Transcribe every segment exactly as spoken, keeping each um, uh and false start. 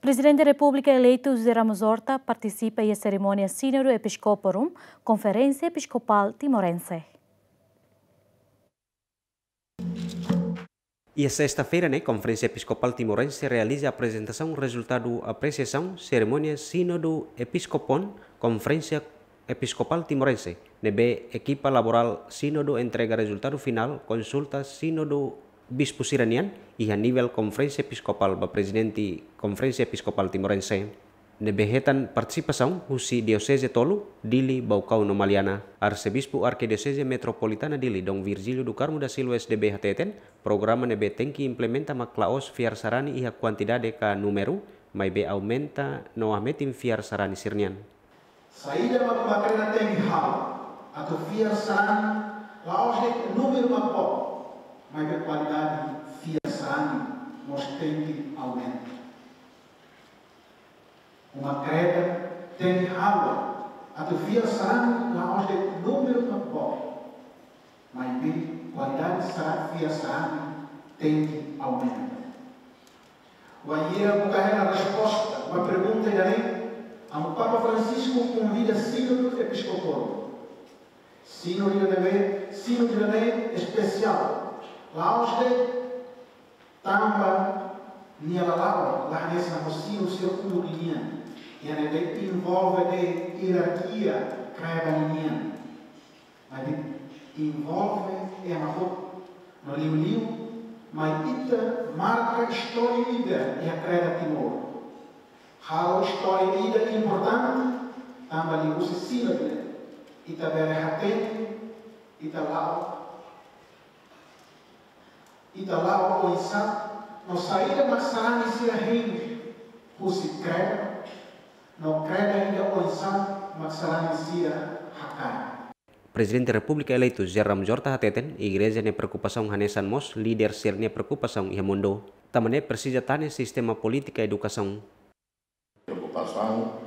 Prezidente Repúblika eleitu José Ramos Horta partisipa iha serimónia Sínodu Episkoporum, Konferénsia Episkopál Timorense. Iha sesta-feira ne'e, Konferénsia Episkopál Timorense realiza aprezentasaun rezultadu apresiasaun serimónia Sínodu Episkopon, Konferénsia Episkopál Timorense, ne'ebé ekipa laborál Sínodu entrega rezultadu finál konsulta Sínodu Bispu sira-nian iha nivel Konferénsia Episkopál ba Prezidente Konferénsia Episkopál Timorense, ne'ebé hetan partisipasaun husi dioseze tolu, Dili, Baucau no Maliana. Arsebispu Arkidioseze Metropolitana Dili, Dom Virgílio do Carmo da Silva, S D B, hateten, programa ne'ebé tenke implementa mak la'ós fiar sarani iha kuantidade ka númeru, maibé aumenta no hametin fiar sarani sira-nian. Saida mak makreda tenke halo atu fiar sarani la'ós de'it númeru mak boot, maibé kualidade fiar sarani mós tenke aumenta. Uma kreda tenke halo atu fiar sarani la'ós de'it númeru mak boot, maibé kualidade sara-, fiar sarani tenke aumenta. Wainhira buka hela resposta ba pergunta ida-ne'e, Amu Papa Francisco konvida Sínodu Episkopál. Sínodu ida-ne'e, Sínodu ida-ne'e espesiál. La'ós de'it tanba nia lala'ok la hanesan ho Sínodu sira uluk nian, ida-ne'ebé envolve de'it ierarkia kreda ninian. Maibé envolve ema hotu. No liuliu mai ita marka istória ida iha kreda Timor. Halo istória ida importante, tanba liuhusi Sínodu ita bele hatene ita la'o, ita la'o oinsá, no saida mak sarani sira hein husi kreda, no kreda ida oinsá mak sarani sira hakarak. Prezidente Repúblika eleitu José Ramos Horta hateten, Igreja nia preokupasaun hanesan mós líder sira-nia preokupasaun iha mundu. Tanba ne'e presiza tane sistema polítika edukasaun. Preokupasaun,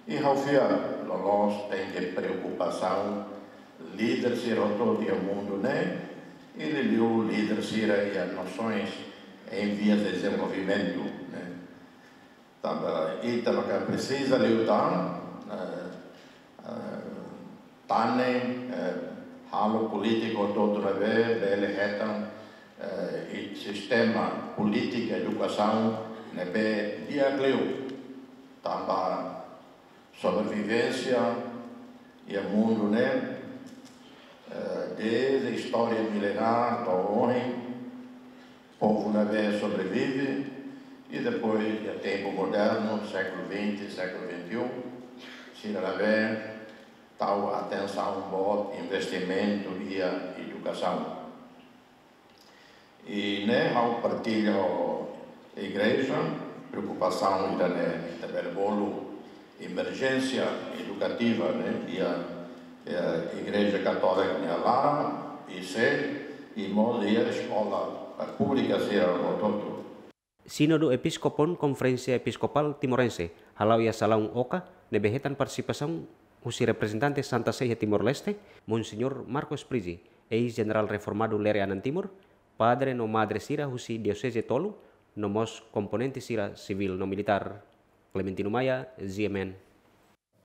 i ha'u fiar loloos tenke preokupasaun líder sira hotu iha mundu ne'e, i liuliu líder sira iha nasoens em vias de desenvolvimento ne'e. Tanba ita maka presiza liután, eh, eh, tane, eh, halo polítika hotu-hotu ne'ebé bele hetan, eh, i sistema polítika edukasaun ne'ebé di'ak liu. Tanba sobrevivénsia iha mundu ne'e, eh, desde istória milenár to'o ohin, povu ne'ebé sobrevive, i depois iha tempu modernu, sékulu vinte, sékulu vinte e um, sira ne'ebé tau atensaun boot, investimentu iha edukasaun. I ne'e ha'u partilla ho Igreja, preokupasaun ida-ne'e ita bele bolu emerjénsia edukativa ne'e iha, eh, Igreja Katólika nia laran, I C, i mós iha eskola, eh, públika sira hotu-hotu. Sínodu Episkopon Konferénsia Episkopál Timorense hala'o iha salaun Oca, ne'ebé hetan partisipasaun husi reprezentante Santa Sé iha Timor-Leste, Monseñór Marcos Prizi, eis-jenerál reformadu Lere Anan Timur, padre no madre sira husi dioseze tolu, no mós komponente sira sivíl no militár. Clementino Maia, G M N.